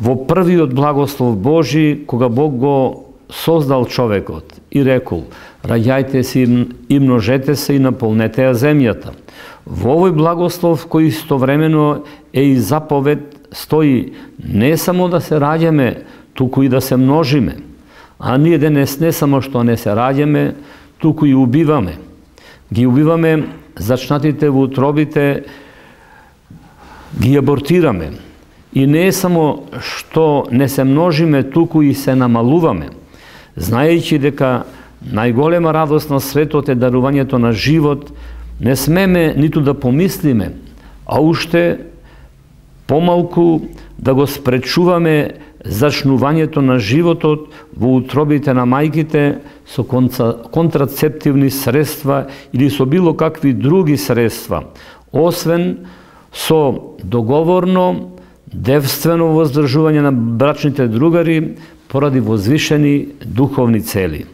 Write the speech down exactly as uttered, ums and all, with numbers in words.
во првиот благослов Божи, кога Бог го создал човекот и рекол: раѓајте се и множете се и наполнете ја земјата. Во овој благослов, кој истовремено е и заповед, стои не само да се раѓаме, туку и да се множиме. А ние денес не само што не се раѓаме, туку и убиваме. Ги убиваме зачнатите во утробите, ги абортираме. И не е само што не се множиме, туку и се намалуваме, знаејќи дека најголема радост на светот е дарувањето на живот. Не смеме ниту да помислиме, а уште помалку да го спречуваме зачнувањето на животот во утробите на мајките со контрацептивни средства или со било какви други средства, освен со договорно, девствено воздржување на брачните другари поради возвишени духовни цели.